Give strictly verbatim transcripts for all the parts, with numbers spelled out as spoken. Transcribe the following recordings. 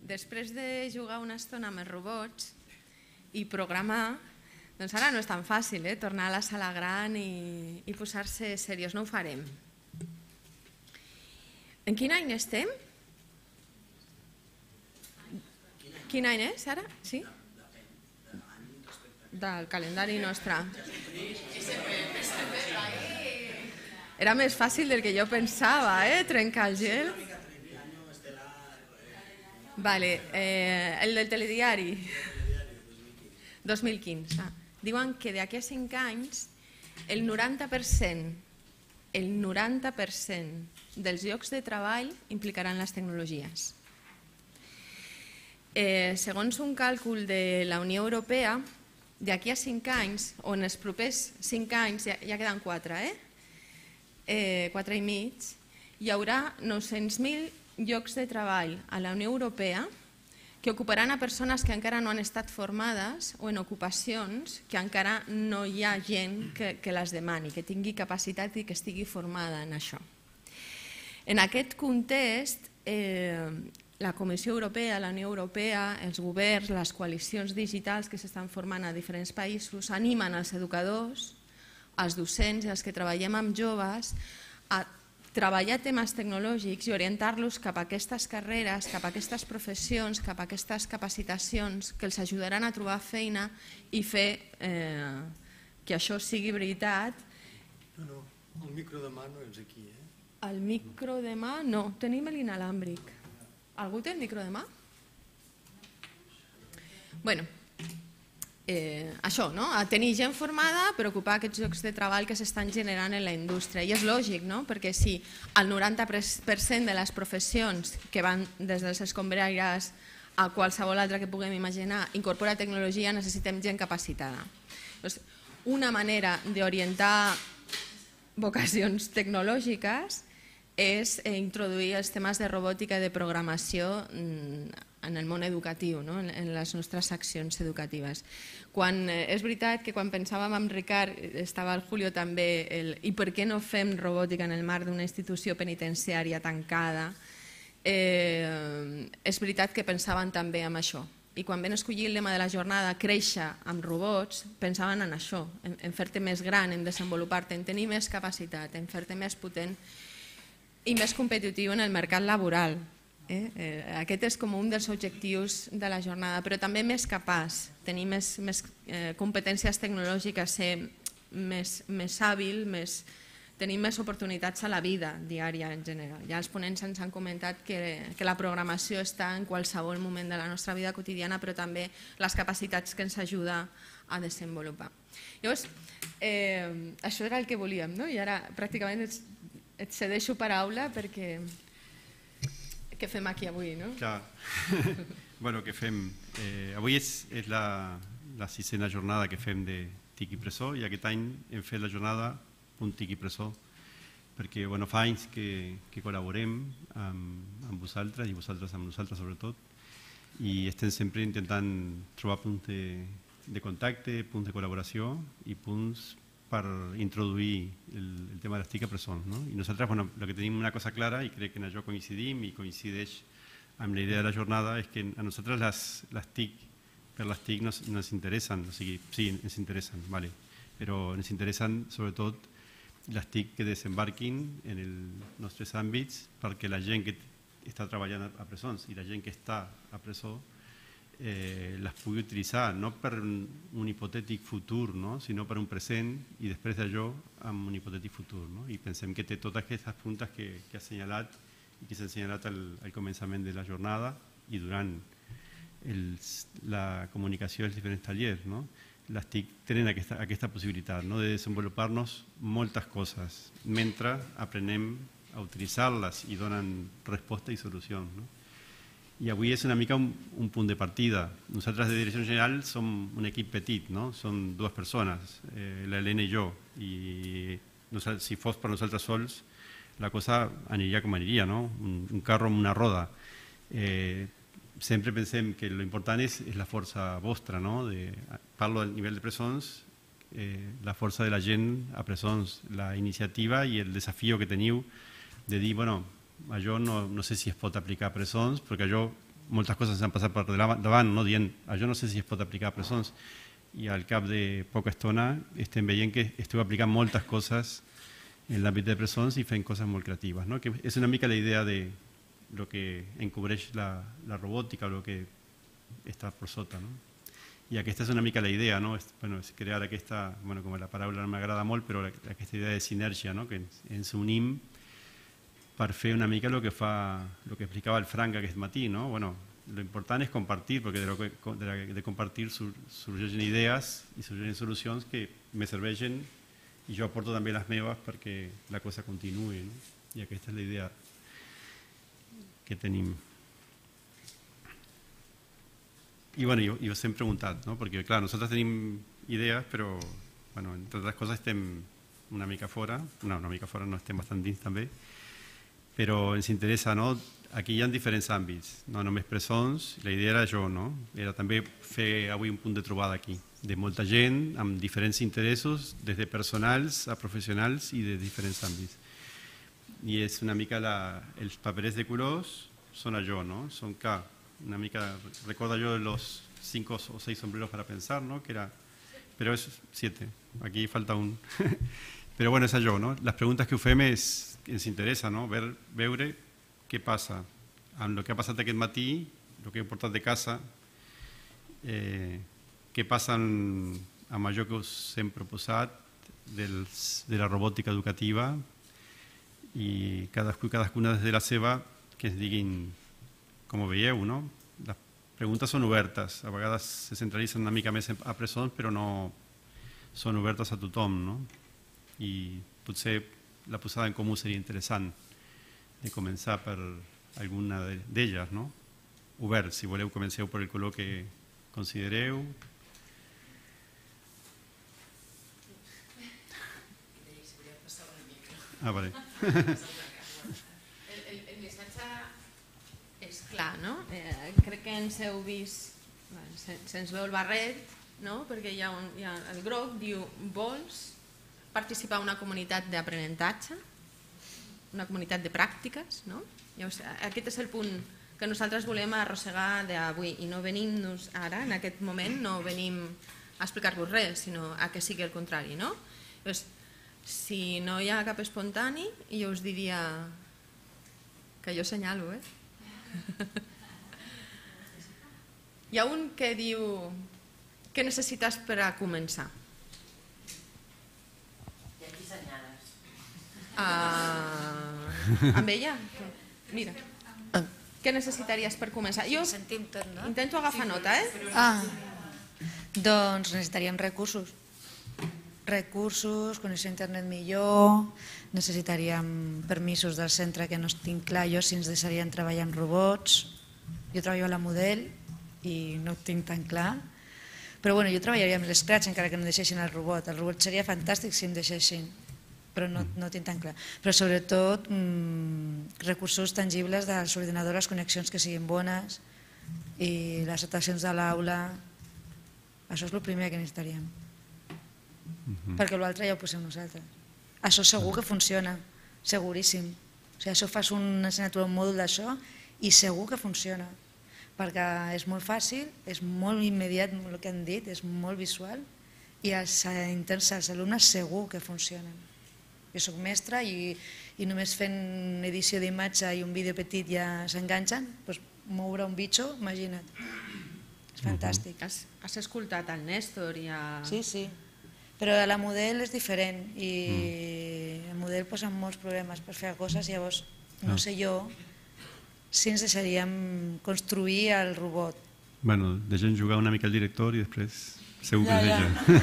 després de jugar una estona amb els robots i programar, doncs ara no és tan fàcil, eh? Tornar a la sala gran i, i posar-se seriós. No ho farem. En quin any estem? Quin any és ara? Sí? Del calendari nostre. Era més fàcil del que jo pensava, eh? Trencar el gel. Vale, eh, el del telediari. dos mil quinze. Diuen que d'aquí a cinc anys el noranta per cent el noranta per cent dels llocs de treball implicaran les tecnologies. Eh, segons un càlcul de la Unió Europea, d'aquí a cinc anys, o en els propers cinc anys, ja, ja queden quatre, eh? eh? quatre i mig, hi haurà nou-cents mil llocs de treball a la Unió Europea que ocuparan a persones que encara no han estat formades o en ocupacions que encara no hi ha gent que, que les demani, que tingui capacitat i que estigui formada en això. En aquest context, eh, la Comissió Europea, la Unió Europea, els governs, les coalicions digitals que s'estan formant a diferents països animen els educadors, els docents i els que treballem amb joves a treballar temes tecnològics i orientar-los cap a aquestes carreres, cap a aquestes professions, cap a aquestes capacitacions que els ajudaran a trobar feina i fer eh, que això sigui veritat. No, no, el micro de mà no és aquí, eh? El micro de mà no, tenim l'inalàmbric. Algú té el micro de mà? Bueno, Eh, això, no? A tenir gent formada per ocupar aquests llocs de treball que s'estan generant en la indústria. I és lògic, no? Perquè si el noranta per cent de les professions que van des dels escombraires a qualsevol altra que puguem imaginar incorpora tecnologia, necessitem gent capacitada. Doncs una manera d'orientar vocacions tecnològiques és introduir els temes de robòtica i de programació en el món educatiu, no? En les nostres accions educatives. Quan, és veritat que quan pensàvem amb Ricard, estava el Julio també, el, i per què no fem robòtica en el marc d'una institució penitenciària tancada, eh, és veritat que pensaven també en això. I quan vam escollir el lema de la jornada, créixer amb robots, pensaven en això, en, en fer-te més gran, en desenvolupar-te, en tenir més capacitat, en fer-te més potent i més competitiu en el mercat laboral. Eh? Eh, aquest és com un dels objectius de la jornada, però també més capaç, tenir més, més eh, competències tecnològiques, ser més, més hàbil, més, tenir més oportunitats a la vida diària en general. Ja els ponents ens han comentat que, que la programació està en qualsevol moment de la nostra vida quotidiana, però també les capacitats que ens ajuda a desenvolupar. Llavors, eh, això era el que volíem, no? I ara pràcticament et, et cedeixo paraula perquè... Què fem aquí avui, no? Clar. Bueno, què fem? Eh, avui és, és la, la sisena jornada que fem de T I C Impressor i aquest any hem fet la jornada un T I C Impressor perquè bueno, fa anys que, que col·laborem amb, amb vosaltres i vosaltres amb nosaltres sobretot i estem sempre intentant trobar punts de, de contacte, punts de col·laboració i punts per introduir el, el tema de les T I C a presons. ¿no? I nosaltres, bueno, lo que tenim una cosa clara, i crec que en això coincidim i coincideix amb la idea de la jornada, és que a nosaltres les, les T I C, per les T I C nos, nos interessen, o sigui, sí, ens interessen, vale, però ens interessen sobretot les T I C que desembarquin en els nostres àmbits perquè la gent que està treballant a presons i la gent que està a presó Eh, les pugui utilitzar no per un, un hipotètic futur, no? sinó per un present i després d'allò amb un hipotètic futur. No? I pensem que té totes aquestes puntes que, que ha assenyalat i que s'ha assenyalat al, al començament de la jornada i durant els, la comunicació dels diferents tallers. No? Les T I C tenen aquesta, aquesta possibilitat no? de desenvolupar-nos moltes coses mentre aprenem a utilitzar-les i donen resposta i solucions. No? I avui és una mica un, un punt de partida. Nosaltres de Direcció General som un equip petit, no? Som dues persones, eh, l'Helena i jo, i si fos per nosaltres sols la cosa aniria com aniria, no? un, un carro amb una roda. Eh, sempre pensem que l'important és, és la força vostra, no? de, parlo del nivell de presons, eh, la força de la gent a presons, la iniciativa i el desafió que teniu de dir, bueno, això no, no sé si es pot aplicar a presons, perquè allò moltes coses ens han passat per davant, no? Dient, això no sé si es pot aplicar a presons, i al cap de poca estona estem veient que esteu aplicant moltes coses en l'àmbit de presons i fent coses molt creatives, no? Que és una mica la idea de lo que encobreix la, la robòtica, o lo que està per sota, no? I aquesta és una mica la idea, no? És, bueno, és crear aquesta, bueno, com la paraula no m'agrada molt, però aquesta idea de sinergia, no? Que ens, ens unim per fer una mica el que fa, el que explicava el Frank aquest matí, no? Bueno, lo important és compartir, perquè de, lo que, de, la, de compartir sur, sorgeixen idees i sorgeixen solucions que me serveixen i jo aporto també les meves perquè la cosa continuï, no? I aquesta és la idea que tenim. I bueno, jo, jo sempre he preguntat, no? Perquè clar, nosaltres tenim idees, però bueno, entre altres coses estem una mica fora, no, una mica fora no, estem bastant dins també, però ens interessa, no? Aquí hi ha diferents àmbits, no només presons, la idea era jo, no? Era també fer avui un punt de trobada aquí, de molta gent amb diferents interessos, des de personals a professionals i de diferents àmbits. I és una mica la, els paperets de colors són allò, no? Són que una mica, recuerdo yo los cinco o seis sombreros para pensar, ¿no? Que era, pero es siete, aquí falta un. Però bueno, és allò, no? Les preguntes que ho fem és, ens interessa, no? Ver, veure què passa amb el que ha passat aquest matí, el que he portat de casa, eh, què passa amb, amb allò que us hem proposat dels, de la robòtica educativa i cadascú, cadascuna des de la seva que ens diguin com ho veieu, no? Les preguntes són obertes, a vegades se centralitzen una mica més a presons, però no són obertes a tothom, no? I potser la posada en comú seria interessant de començar per alguna d'elles, no? Obert, si voleu comenceu per el color que considereu. Ah, vale. Clar, no? Eh, crec que ens heu vist, bueno, se, se'ns veu el barret, no? Perquè hi ha, un, hi ha el groc, diu, vols participar en una comunitat d'aprenentatge, una comunitat de pràctiques, no? Llavors, aquest és el punt que nosaltres volem arrossegar d'avui i no venim-nos ara, en aquest moment, no venim a explicar-vos res, sinó a que sigui el contrari, no? Llavors, si no hi ha cap espontani, jo us diria que jo senyalo, eh? Hi ha un que diu què necessites per a començar? I aquí senyales. Uh, amb ella? Mira, què necessitaries per començar? Jo Sentim tot, no? intento agafar nota, eh? Ah, doncs necessitaríem recursos. Recursos, connexió a internet millor, necessitaríem permisos del centre que no tinc clar jo si ens deixarien treballar amb robots. Jo treballo a la Model i no ho tinc tan clar, però bueno, jo treballaria amb l'Scratch encara que no deixessin el robot. El robot seria fantàstic si em deixessin, però no, no ho tinc tan clar. Però sobretot mmm, recursos tangibles de les ordinadores, connexions que siguin bones i les actuacions de l'aula. Això és el primer que necessitaríem. Uh-huh. Perquè l'altre ja ho posem nosaltres. Això segur que funciona, seguríssim. O sigui, això fas una assignatura, un mòdul d'això i segur que funciona, perquè és molt fàcil, és molt immediat el que han dit, és molt visual i els interns, els alumnes segur que funcionen. Jo soc mestra i, i només fent edició d'imatge i un vídeo petit ja s'enganxen, doncs moure un bitxo, imagina't. És fantàstic. Uh-huh. Has, has escoltat el Néstor i a... Sí, sí. Però la Model és diferent i el Model posa molts problemes per fer coses, llavors no sé jo si ens deixaríem construir el robot. Bueno, deixem jugar una mica el director i després segur que ja, ja.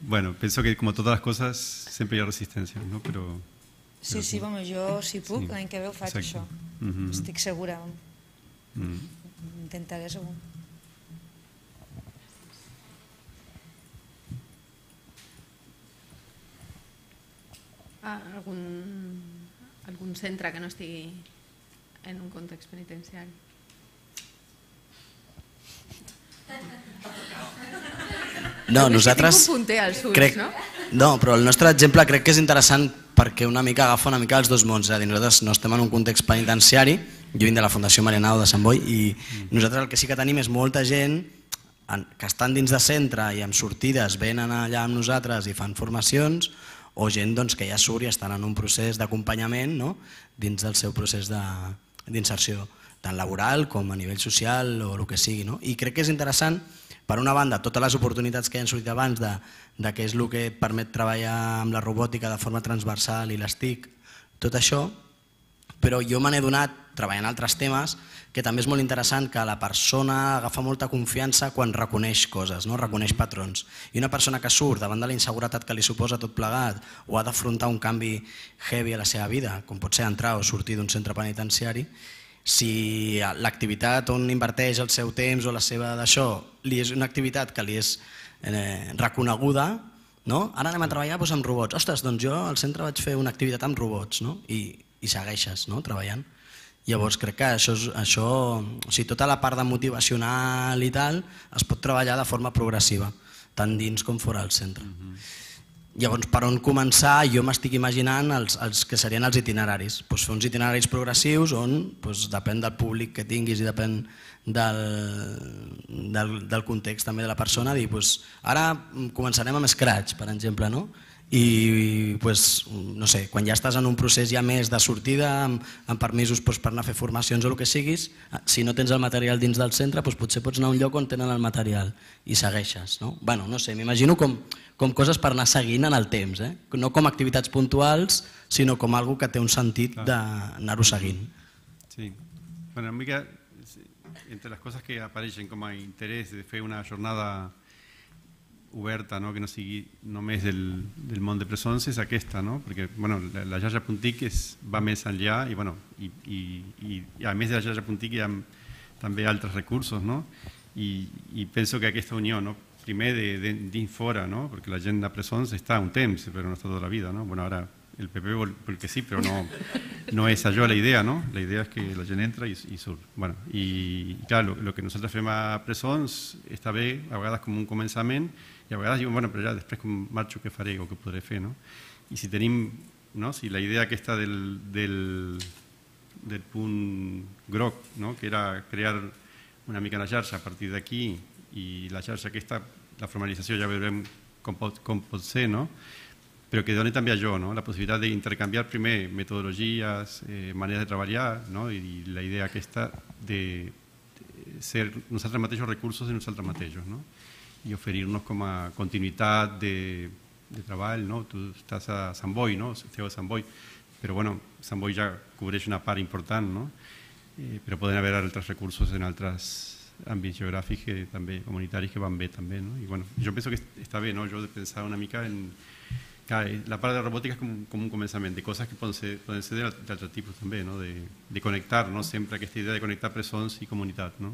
Bueno, penso que como todas las cosas siempre hay resistencia, ¿no? Pero, sí, pero sí, bueno, jo si puc, sí. L'any que ve ho faig. Exacte. Això. Uh-huh. Estic segura. Uh-huh. Intentaré segur. Algun, algun centre que no estigui en un context penitenciari? No, nosaltres... Tinc un punter als ulls, crec, no? No, però el nostre exemple crec que és interessant perquè una mica agafa una mica els dos mons. És a dir, nosaltres no estem en un context penitenciari, Jo vinc de la Fundació Marianao de Sant Boi i nosaltres el que sí que tenim és molta gent que estan dins de centre i amb sortides venen allà amb nosaltres i fan formacions, o gent doncs, que ja surt i estan en un procés d'acompanyament, no? Dins del seu procés d'inserció, tant laboral com a nivell social o el que sigui. No? I crec que és interessant, per una banda, totes les oportunitats que ja han sortit abans de, de què és el que permet treballar amb la robòtica de forma transversal i les T I C, tot això, però jo me n'he donat, treballant altres temes, que també és molt interessant que la persona agafa molta confiança quan reconeix coses, no? Reconeix patrons. I una persona que surt davant de la inseguretat que li suposa tot plegat o ha d'afrontar un canvi heavy a la seva vida, com pot ser entrar o sortir d'un centre penitenciari, si l'activitat on inverteix el seu temps o la seva d'això li és una activitat que li és eh, reconeguda, no? Ara anem a treballar doncs, amb robots. Ostres, doncs jo al centre vaig fer una activitat amb robots, no? I, i segueixes, no? Treballant. Llavors crec que això, això, o sigui, tota la part de motivacional i tal es pot treballar de forma progressiva, tant dins com fora del centre. Llavors, per on començar, jo m'estic imaginant els, els que serien els itineraris. Pues fer uns itineraris progressius on pues, depèn del públic que tinguis i depèn del, del, del context també de la persona. Dir, pues, ara començarem amb Scratch, per exemple, no? I pues, no sé, quan ja estàs en un procés ja més de sortida, amb, amb permisos pues, per anar a fer formacions o el que siguis, si no tens el material dins del centre, pues, potser pots anar a un lloc on tenen el material i segueixes. No, bueno, no sé, m'imagino com, com coses per anar seguint en el temps, eh? No com activitats puntuals, sinó com algo que té un sentit d'anar-ho seguint. Sí, bueno, una mica, entre les coses que apareixen com a interès de fer una jornada oberta, no? Que no sigui només del, del món de presons, és aquesta, no? Perquè bueno, la, la xarxa Puntic és, va més enllà i, bueno, i, i, i, i a més de la xarxa Puntic hi ha també altres recursos, no? I, i penso que aquesta unió, no? Primer de, de, dins fora, no? Perquè la gent de presons està un temps, però no està tota la vida, no? Bueno, ara el P P vol, vol que sí, però no, no és això la idea, no? La idea és que la gent entra i, i surt. Bueno, i, i clar, el que nosaltres fem a presons està bé, a vegades com un començament, i a vegades diuen, bueno, però ja després com marxo què faré o què podré fer, no? I si tenim, no? Si la idea aquesta del, del, del punt groc, no? Que era crear una mica la xarxa a partir d'aquí i la xarxa aquesta, la formalització ja veurem com pot, com pot ser, no? Però que doni també a jo, no? La possibilitat d'intercanviar primer metodologies, eh, maneres de treballar, no? I, i la idea aquesta de, de ser nosaltres mateixos recursos de nosaltres mateixos, no? I oferir-nos com a continuïtat de, de treball, no? Tu estàs a Sant Boi, no? Esteu a Sant Boi, però bueno, Sant Boi ja cobreix una part important, no? Eh, però poden haver altres recursos en altres àmbits geogràfics que, també, comunitaris que van bé també, no? I bueno, jo penso que està bé, no? Jo he de pensar una mica en... La part de la robòtica és com, com un començament de coses que poden ser, poden ser d'altre tipus també, no? De, de connectar, no? Sempre aquesta idea de connectar presons i comunitat, no?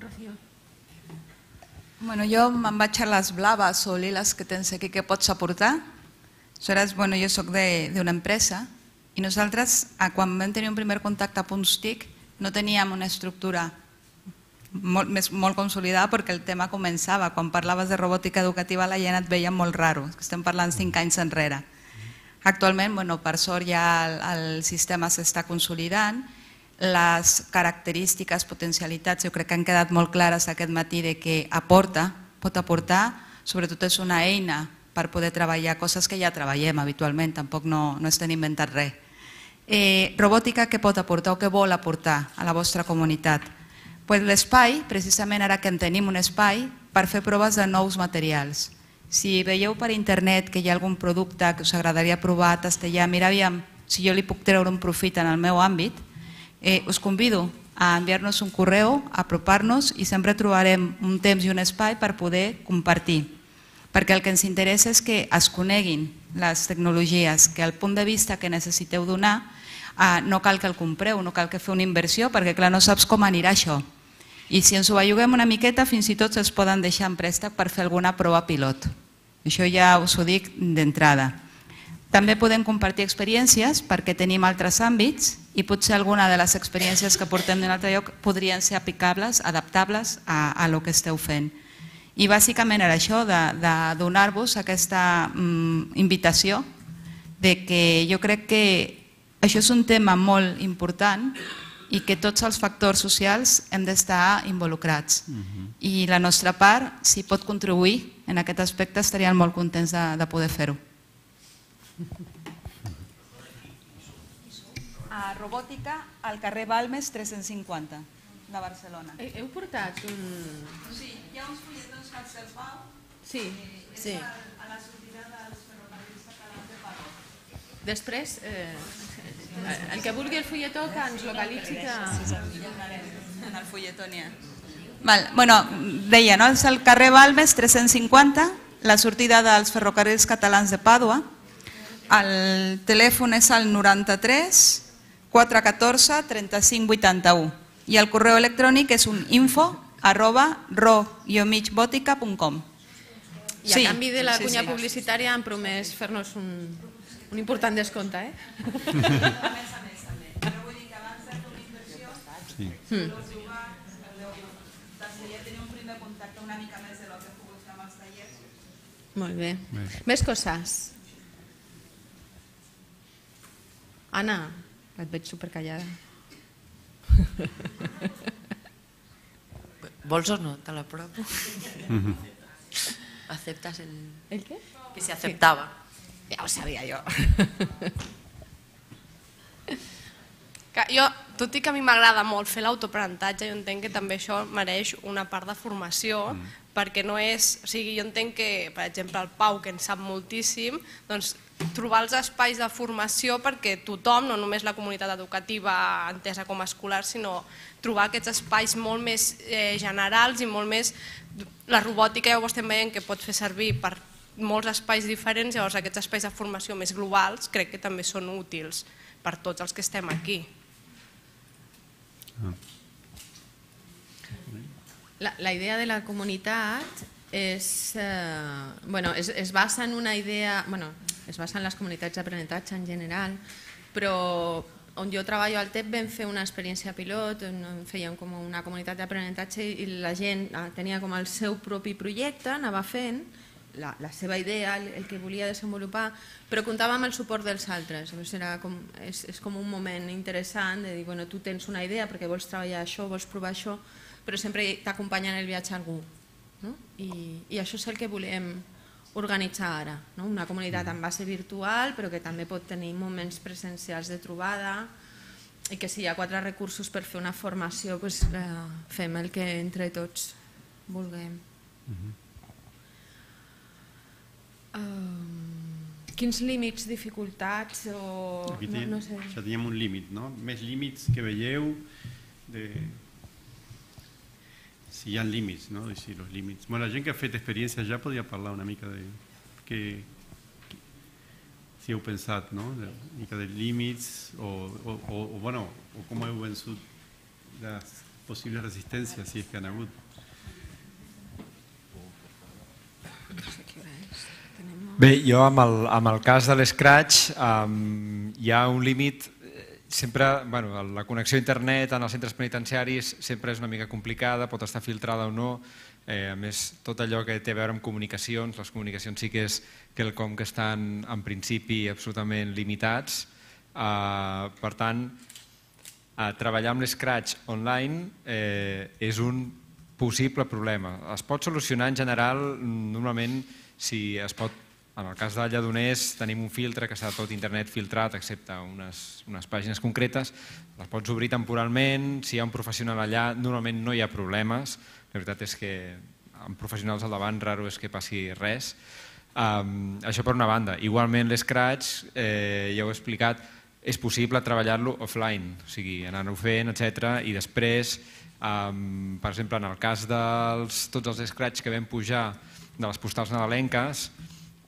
Rocío. Bueno, jo me'n vaig a les blaves o liles que tens aquí, què pots aportar? Aleshores, bueno, jo soc d'una empresa i nosaltres, quan vam tenir un primer contacte a Punts T I C, no teníem una estructura molt, més, molt consolidada perquè el tema començava. Quan parlaves de robòtica educativa la gent et veia molt raro, estem parlant cinc anys enrere. Actualment, bueno, per sort ja el, el sistema s'està consolidant, les característiques, potencialitats, jo crec que han quedat molt clares aquest matí de que aporta, pot aportar, sobretot és una eina per poder treballar coses que ja treballem habitualment, tampoc no, no estem inventant res. Eh, robòtica, què pot aportar o què vol aportar a la vostra comunitat? Pues l'espai, precisament ara que en tenim un espai, per fer proves de nous materials. Si veieu per internet que hi ha algun producte que us agradaria provar, tastejar, mira, aviam, si jo li puc treure un profit en el meu àmbit, eh, us convido a enviar-nos un correu, a apropar-nos i sempre trobarem un temps i un espai per poder compartir. Perquè el que ens interessa és que es coneguin les tecnologies, que al punt de vista que necessiteu donar eh, no cal que el compreu, no cal que feu una inversió, perquè clar, no saps com anirà això. I si ens ho belluguem una miqueta, fins i tot es poden deixar en préstec per fer alguna prova pilot. Això ja us ho dic d'entrada. També podem compartir experiències perquè tenim altres àmbits i potser alguna de les experiències que portem d'un altre lloc podrien ser aplicables, adaptables a, a lo que esteu fent. I bàsicament era això, de, de donar-vos aquesta mm, invitació de que jo crec que això és un tema molt important i que tots els factors socials hem d'estar involucrats. I la nostra part, si pot contribuir en aquest aspecte, estaríem molt contents de, de poder fer-ho. A robòtica, al carrer Balmes tres-cents cinquanta, de Barcelona. Heu portat un... Sí, hi ha uns fulletons que se'ls Pau. Sí, sí. A la sortida dels ferrocarrils catalans de Pau. Després, eh, el que vulgui el fulletó que ens localitzi que... En el fulletó n'hi ha. Val, bueno, deia, no? És el carrer Balmes tres-cents cinquanta, la sortida dels ferrocarrils catalans de Pàdua. El telèfon és el noranta-tres quatre catorze trenta-cinc vuitanta-u i el correu electrònic és un info arroba ro guió mig bòtica punt com. I a canvi de la cunya publicitària han promès fer-nos un, un important descompte, eh? A més a més, també. Però vull dir que abans de fer una inversió, ja tenir un primer contacte una mica més de lo que he pogut fer amb els tallers. Molt bé. Més coses. Anna, et veig supercallada. ¿Vols o no? Te la propo. ¿Aceptas el...? ¿El qué? Que se aceptaba. Ja ho sabia jo. Jo, tot i que a mi m'agrada molt fer l'autoaprenentatge, jo entenc que també això mereix una part de formació, perquè no és... O sigui, jo entenc que, per exemple, el Pau, que en sap moltíssim, doncs trobar els espais de formació perquè tothom, no només la comunitat educativa entesa com a escolar, sinó trobar aquests espais molt més generals i molt més... La robòtica ja ho estem veient que pot fer servir per molts espais diferents, llavors aquests espais de formació més globals crec que també són útils per tots els que estem aquí. La, la idea de la comunitat és, eh, bueno, es, es basa en una idea, bueno, es basa en les comunitats d'aprenentatge en general, però on jo treballo al T E P vam fer una experiència pilot, on fèiem com una comunitat d'aprenentatge i la gent tenia com el seu propi projecte, anava fent la, la seva idea, el, el que volia desenvolupar, però comptava amb el suport dels altres. Era com, és, és com un moment interessant de dir, bueno, tu tens una idea perquè vols treballar això, vols provar això, però sempre t'acompanya en el viatge algú. No? I, I això és el que volem organitzar ara, no? Una comunitat en base virtual però que també pot tenir moments presencials de trobada i que si hi ha quatre recursos per fer una formació doncs, eh, fem el que entre tots vulguem. Uh-huh. uh, quins límits, dificultats o... Aquí no, no sé. Ja teníem un límit, no? Més límits que veieu de... Si hi ha límits, no? Si los límits. Bueno, la gent que ha fet experiència ja podria parlar una mica de... Que, que, si heu pensat, no? Una mica de límits o, o, o, o, bueno, o com heu vençut les possibles resistències, si és que han hagut. Bé, jo amb el, amb el cas de l'Scratch um, hi ha un límit. Sempre, bueno, la connexió a internet en els centres penitenciaris sempre és una mica complicada, pot estar filtrada o no. Eh, a més, tot allò que té a veure amb comunicacions, les comunicacions sí que és quelcom que estan en principi absolutament limitats. Eh, per tant, eh, treballar amb l'Scratch online eh, és un possible problema. Es pot solucionar en general, normalment, si es pot. En el cas de Lledoners tenim un filtre que està tot internet filtrat excepte unes, unes pàgines concretes, les pots obrir temporalment, si hi ha un professional allà normalment no hi ha problemes, la veritat és que amb professionals al davant raro és que passi res. Um, això per una banda. Igualment l'Scratch, eh, ja ho he explicat, és possible treballar-lo offline, o sigui, anar-ho fent, etcètera. I després, um, per exemple, en el cas de tots els Scratch que vam pujar de les postals nadalenques,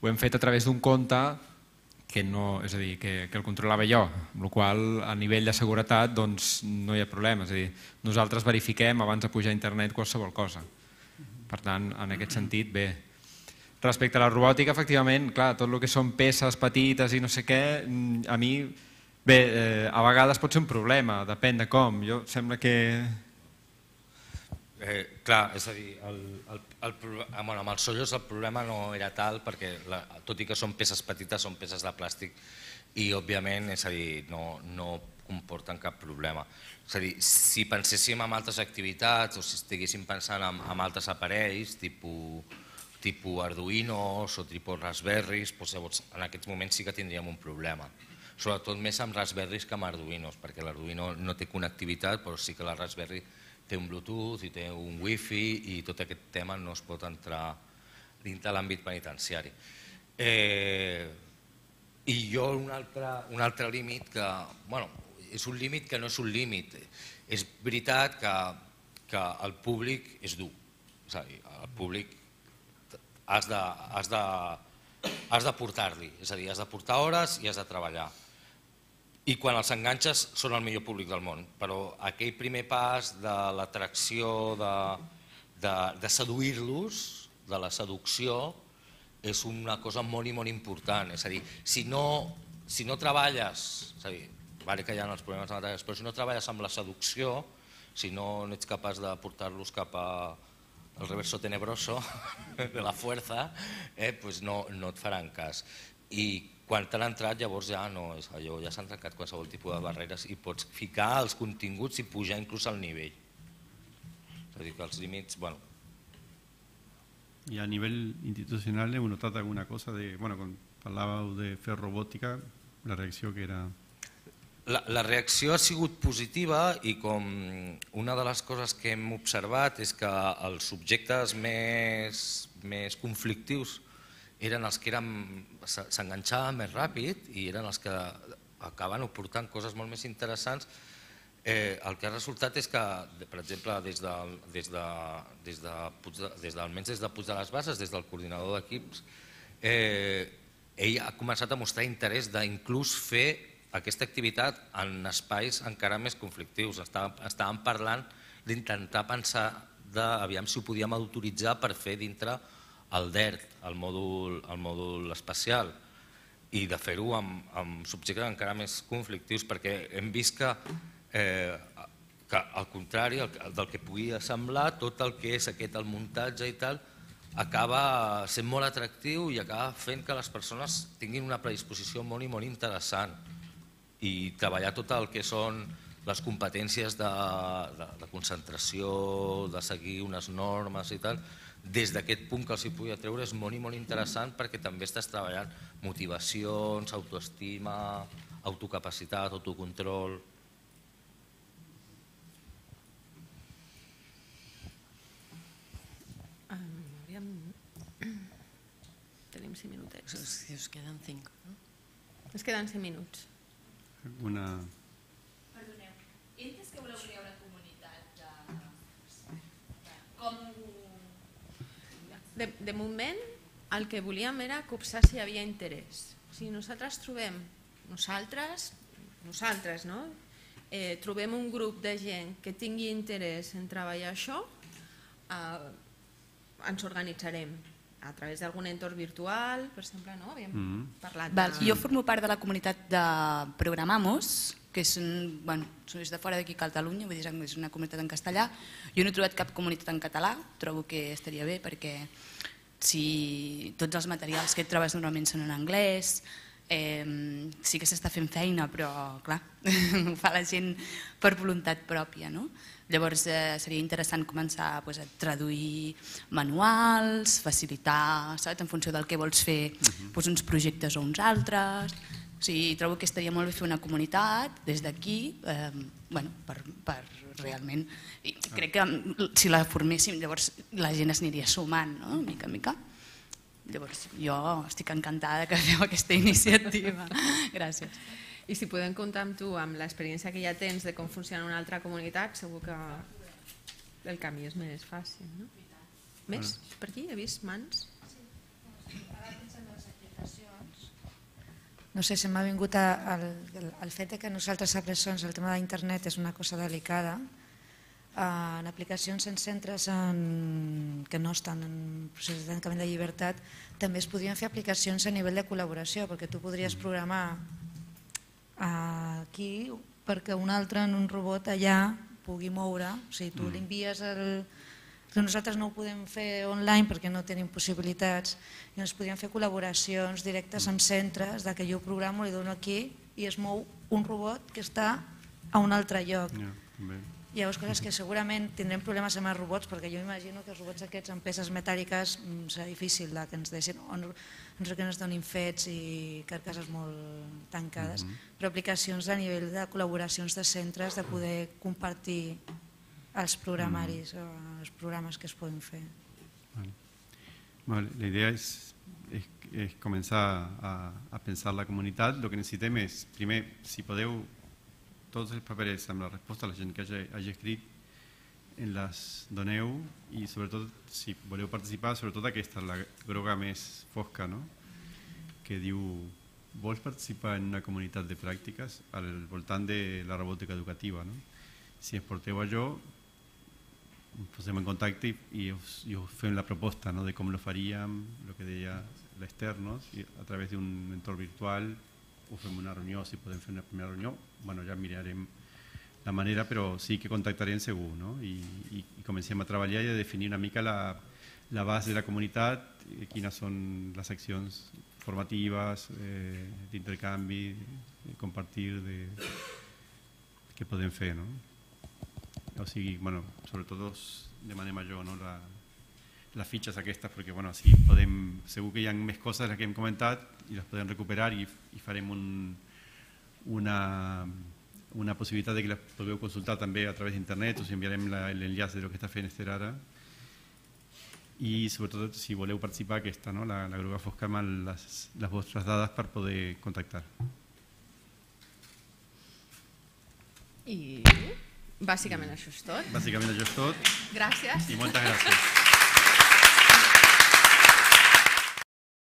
ho hem fet a través d'un compte que, no, és a dir, que, que el controlava jo, amb la qual a nivell de seguretat doncs, no hi ha problema. És a dir, nosaltres verifiquem abans de pujar a internet qualsevol cosa. Per tant, en aquest sentit, bé. Respecte a la robòtica, efectivament, clar, tot el que són peces petites i no sé què, a mi, bé, eh, a vegades pot ser un problema, depèn de com. Jo sembla que... Eh, clar, és a dir, el, el, el, bueno, amb els sollos el problema no era tal perquè, la, tot i que són peces petites, són peces de plàstic i òbviament, és a dir, no, no comporten cap problema. És a dir, si penséssim en altres activitats o si estiguéssim pensant en, en altres aparells, tipus, tipus Arduinos o tipus Raspberries, doncs llavors en aquests moments sí que tindríem un problema. Sobretot més amb Raspberries que amb Arduinos, perquè l'Arduino no té connectivitat, però sí que la Raspberry té un Bluetooth i té un Wi-Fi i tot aquest tema no es pot entrar dins de l'àmbit penitenciari. Eh, I jo un altre, un altre límit que, bueno, és un límit que no és un límit. És veritat que, que el públic és dur. És a dir, el públic has de, has de, has de portar-li, és a dir, has de portar hores i has de treballar. I quan els enganxes són el millor públic del món, però aquell primer pas de l'atracció, de, de, de seduir-los, de la seducció, és una cosa molt i molt important. És a dir, si no, si no treballes, és a dir, vale que hi ha els problemes materials, però si no treballes amb la seducció, si no, no ets capaç de portar-los cap al reverso tenebroso de la fuerza, eh, pues no, no et faran cas. I quan t'han entrat llavors ja no és allò, ja s'han trencat qualsevol tipus de barreres i pots ficar els continguts i pujar inclús al nivell. És a dir, que els límits, bueno... Y a nivel institucional hemos notado alguna cosa de, bueno, cuando parlàveu de fer robòtica, la reacció que era... La, la reacció ha sigut positiva i com una de les coses que hem observat és que els subjectes més, més conflictius eren els que s'enganxaven més ràpid i eren els que acaben portant coses molt més interessants. Eh, el que ha resultat és que, per exemple, des de, des de, des de, des de, almenys des de Puig de les Basses, des del coordinador d'equips, eh, ell ha començat a mostrar interès d'inclús fer aquesta activitat en espais encara més conflictius. Estàvem parlant d'intentar pensar d'aviam si ho podíem autoritzar per fer dintre el D E R T, el mòdul, el mòdul espacial, i de fer-ho amb, amb subjectes encara més conflictius, perquè hem vist que, eh, que al contrari del que pugui semblar, tot el que és aquest el muntatge i tal, acaba sent molt atractiu i acaba fent que les persones tinguin una predisposició molt i molt interessant i treballar tot el que són les competències de, de, de concentració, de seguir unes normes i tal, des d'aquest punt que els hi pugui treure és molt i molt interessant perquè també estàs treballant motivacions, autoestima, autocapacitat, autocontrol. Tenim cinc minutets. Si us queden cinc, no? Ens queden cinc minuts. Alguna... Perdoneu, he entès que voleu crear una comunitat de... Com... De, de moment, el que volíem era copsar si hi havia interès. Si nosaltres trobem, nosaltres, nosaltres, no? Eh, trobem un grup de gent que tingui interès en treballar això, eh, ens organitzarem a través d'algun entorn virtual, per exemple, no? Havíem mm. parlat Val, de... Jo formo part de la comunitat de Programamos, que és, un, bueno, és de fora d'aquí Catalunya, vull dir, és una comunitat en castellà. Jo no he trobat cap comunitat en català, trobo que estaria bé perquè si tots els materials que et trobes normalment són en anglès, eh, sí que s'està fent feina, però clar, ho fa la gent per voluntat pròpia, no? Llavors eh, seria interessant començar pues, a traduir manuals, facilitar, saps, en funció del que vols fer, pues, uns projectes o uns altres. O sigui, trobo que estaria molt bé fer una comunitat des d'aquí, eh, bueno, per, per realment... I crec que si la forméssim, llavors la gent es aniria sumant, no?, mica en mica. Llavors jo estic encantada que feu aquesta iniciativa. Gràcies. I si podem comptar amb tu, amb l'experiència que ja tens de com funciona una altra comunitat, segur que el camí és més fàcil, no? Més? Per aquí he vist mans? No sé, se m'ha vingut el, el, el fet que nosaltres a Presons el tema d'internet és una cosa delicada. En aplicacions en centres en, que no estan en procés de tancament de llibertat també es podrien fer aplicacions a nivell de col·laboració, perquè tu podries programar aquí perquè un altre en un robot allà pugui moure, o sigui, tu li envies el, que nosaltres no ho podem fer online perquè no tenim possibilitats, i ens podríem fer col·laboracions directes amb centres, de que jo programo, li dono aquí i es mou un robot que està a un altre lloc. Llavors, coses que segurament tindrem problemes amb els robots, perquè jo imagino que els robots aquests amb peces metàl·liques serà difícil que ens deixin, o no que ens donin fets i carcasses molt tancades, però aplicacions a nivell de col·laboracions de centres, de poder compartir els programaris o els programes que es poden fer. Vale. La idea es, es, es començar a, a pensar la comunitat. El que necessitem és, primer, si podeu, tots els papers amb la resposta a la gent que hagi, hagi escrit, en les doneu, i sobretot, si voleu participar, sobretot aquesta, la groga més fosca, no? Que diu, vols participar en una comunitat de pràctiques al voltant de la robòtica educativa, no? Si ens porteu a jo, ens posem en contacte i, i, us, i us fem la proposta, no? De com lo faríem, el que deia l'externos, i a través d'un entorn virtual, o fem una reunió, si podem fer una primera reunió, bueno, ja mirarem la manera, però sí que contactarem segur, no? I, i, i comencem a treballar i a definir una mica la, la base de la comunitat, quines són les accions formatives, eh, d'intercanvi, de compartir, de, que podem fer, no? O sigui, bueno, sobretot demanem a jo, no? La, les fitxes aquestes, perquè bueno, sí, podem, segur que hi ha més coses que hem comentat i les podem recuperar i, i farem un, una, una possibilitat de que les podeu consultar també a través d'internet, us enviarem l'enllaç de lo que està fent Esther ara, i sobretot si voleu participar aquesta, no? la, la groga fosca amb les, les vostres dades per poder contactar. I bàsicament això és tot. Bàsicament això és tot. Gràcies. I moltes gràcies.